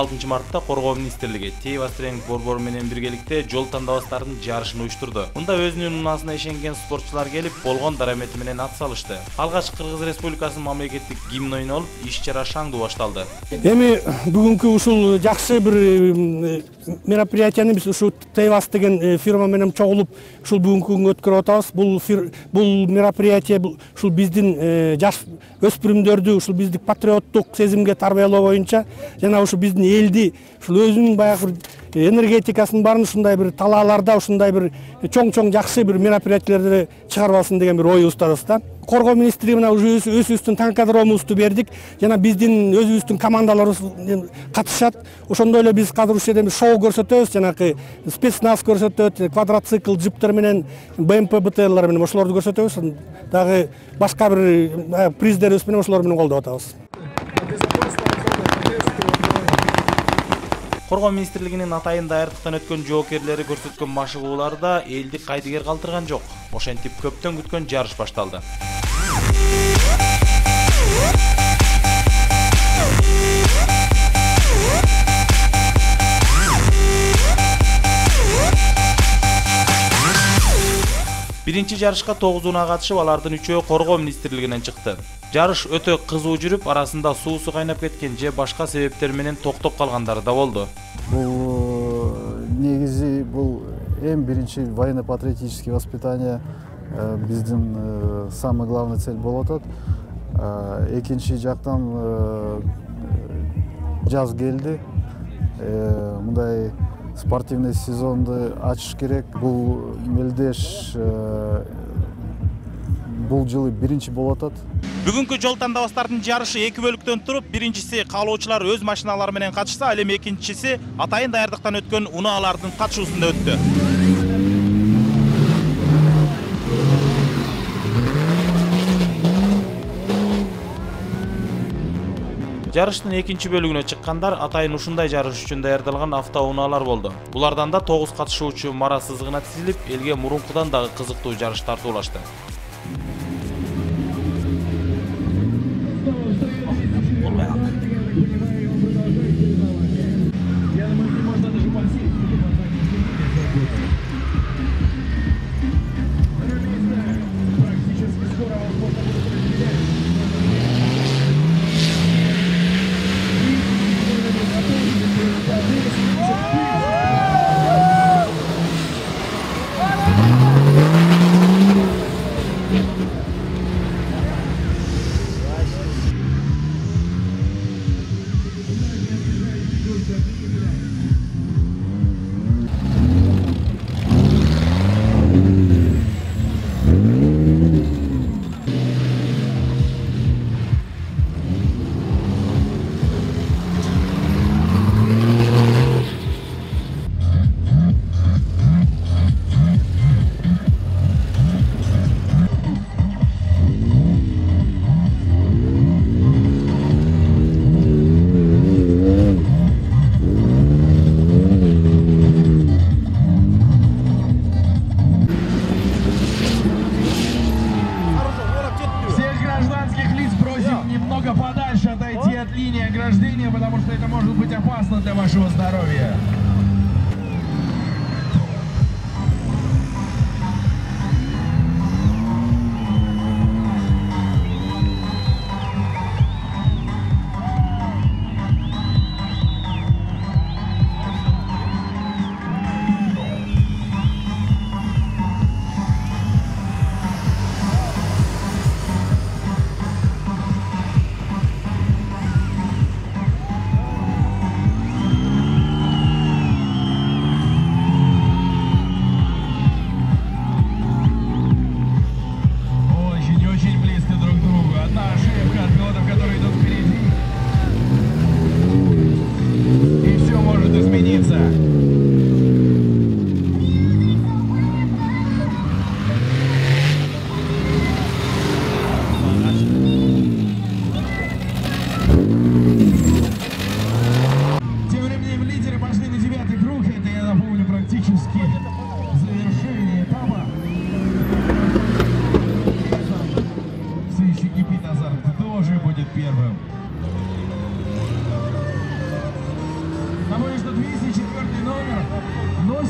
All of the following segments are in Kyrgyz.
16 мартта Коргоо министрлиги Тейвас тренинг борбору менен биргеликте жол тандабастардын жарышын уюштурду. Мында өзүнүн унаасына ишенген спортчулар келип, болгон дарамети менен ат салышты. Алгач Кыргыз Республикасынын мамлекеттик гимни ойнолуп, иш-чара шаңдуу башталды. Эми бүгүнкү ушул жакшы бир мероприятияны биз ушу Тейвас деген фирма менен чогулуп, ушул бүгүнкү күнгө өткөрүп атабыз. Бул мероприятие ушул биздин жаш өспүрүмдөрдү ушул биздик патриоттук сезимге тарбиялоо боюнча жана ушу биздин элди ушул өзүнүн баягы энергетикасынын баарын ушундай бир талааларда ушундай бир чоң жакшы бир мероприятиялерди чыгарып алсын деген бир оюбуздабыз да. Коргоо министрлиги менен уже өзүбүздүн танкодромубузду бердик. Жана биздин өзүбүздүн командаларыбыз катышат. Ошондой эле биз азыр ушул жерде шоу көрсөтөбүз, жанагы спецназ көрсөтөт, квадроцикл, джиптер менен БМП БТРлар менен ошолорду көрсөтөбүз. Дагы башка бир приздерибиз менен ошолор менен колдоп атабыз. Коргоо министрлигинин атайын даярдыктан өткөн жоокерлери көрсөткөн машыгууларда элди кайдыгер калтырган жок. Ошентип көптөн күткөн жарыш башталды. Биринчи жарышка 9 унаа катышып, алардын 3-өө Коргоо министрлигинен чыкты. Жарыш өтө кызуу жүрүп, арасында суусу кайнап кеткен же башка себептер менен токтоп калгандары да болду. Бул негизи бул эң биринчи военно-патриотический воспитание биздин самый главный цель болуп атат. Экинчи жактан жаз келди. Мындай спортивный сезонду ачыш керек. Бул мелдеш бул жылы биринчи болуп атат. Бүгүнкү жол тандабастардын жарышы 2 бөлүктөн туруп, биринчиси каалоочулар өз машиналары менен катышса, ал эми экинчиси атайын даярдыктан өткөн унаалардын катышуусунда өттү. Жарыштын экинчи бөлүгүнө чыккандар атайын ушундай жарыш үчүн даярдалган автоунаалар болду. Булардан да 9 катышуучу мара сызыгына тизилип, элге мурункудан дагы кызыктуу жарыш тартуулашты. Потому что это может быть опасно для вашего здоровья.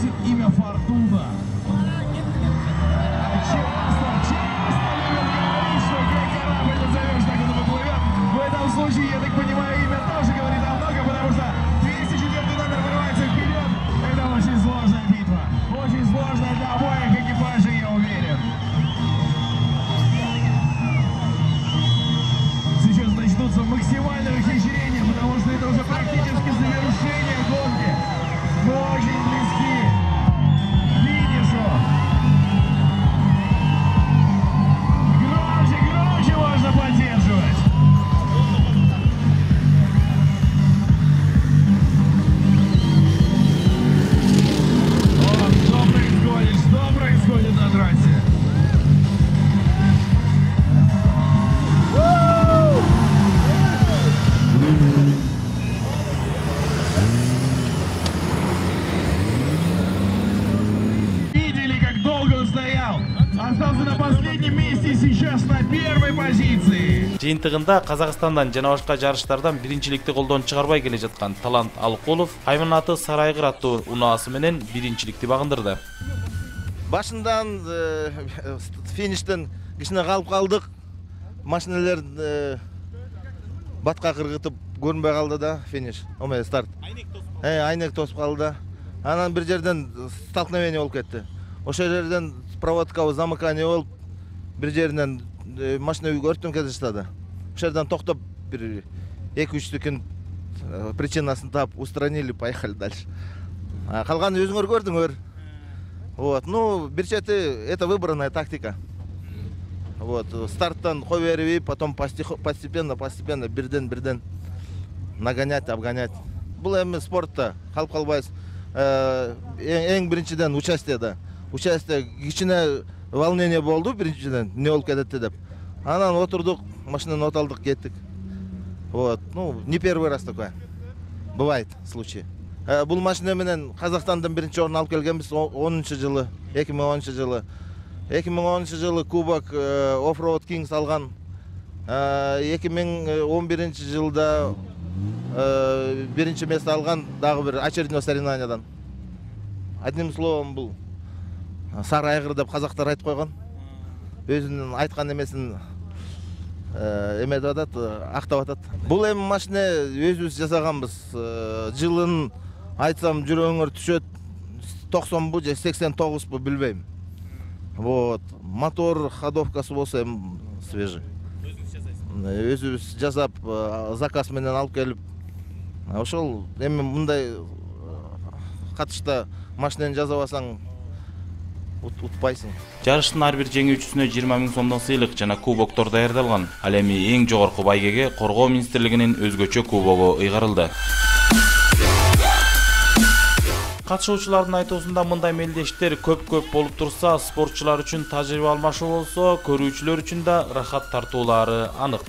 носит имя Фортуна. Часто любят говорить, что где корабль назовешь, так он и поплывет. В этом случае, я так понимаю, имя тоже говорит о многом, потому что 204 номер вырывается вперед. Это очень сложная битва. Очень сложная для обоих экипажей, я уверен. Сейчас начнутся максимальные ухищрения, потому что это уже практически завершение гонки. Мы очень близки к финишу. Громче, громче можно поддерживать. Что происходит на трассе? Видели, как долго он стоял? Остался на последнем месте, сейчас на первой позиции. Жыйынтыгында Казакстандан жана башка жарыштардан биринчиликти колдон чыгарбай келе жаткан Талант Алыкулов Кайманаты Сарайгыр аттуу унаасы менен биринчиликти багындырды. Башындан фиништен кичине калып калдык. Машиналер батка кыргытып көрүнбөй калды да финиш. Омей старт. Айнек тосуп калды. Анан бир жерден столкновение болуп кетти. Ошол жерден проводкабы замыкание болуп, бир жеринен машина өрттөнүп кете баштады. Ошол жерден токтоп бир 2-3 секунд причинасын таап устранили, поехали дальше. Калганын өзүңөр көрдүңөр. Вот, ну, бир чети это выбранная тактика. Вот, старттан кой берип, потом постепенно бирден нагонять, обгонять. Бул эми спортта калып калбайбыз. Эң биринчиден участиеда. Участие кичине волнение болду биринчиден, эмне болуп кетет деп. Анан отурдук, машинаны оталдык, кеттик. Вот, ну, не первый раз такое. Бывает случаи. Бул машина менен Казакстандан биринчи орун алып келгенбиз 2010 жылы. 2010 жылы Кубок Offroad Kings алган. 2011 жылда биринчи место алган дагы бир очередной соревнованиядан. Одним словом, бул Сарайгыр деп казактар айтып койгон. Өзүнүн айткан эмесин эмедип атат, актап атат. Бул эми машина өзүбүз жасаганбыз. Жылын айтсам жүрөгүңөр түшөт, 90 же 89 билбейм. Вот, мотор ходовкасы болсо эми свежий. Өзүбүз жасап, заказ менен алып келип, ошол эми мындай катышта машинаны жасабасаң утпайсың. Жарыштын ар бир жеңүүчүсүнө 20 000 сомдон сыйлык жана кубоктор даярдалган. Ал эми эң жогорку байгеге Коргоо министрлигинин өзгөчө кубогу ыйгарылды. Катышуучулардын айтуусунда мындай мелдештер көп болуп турса, спортчулар үчүн тажрыйба алмашуу болсо, көрүүчүлөр үчүн да рахат тартуулары анык.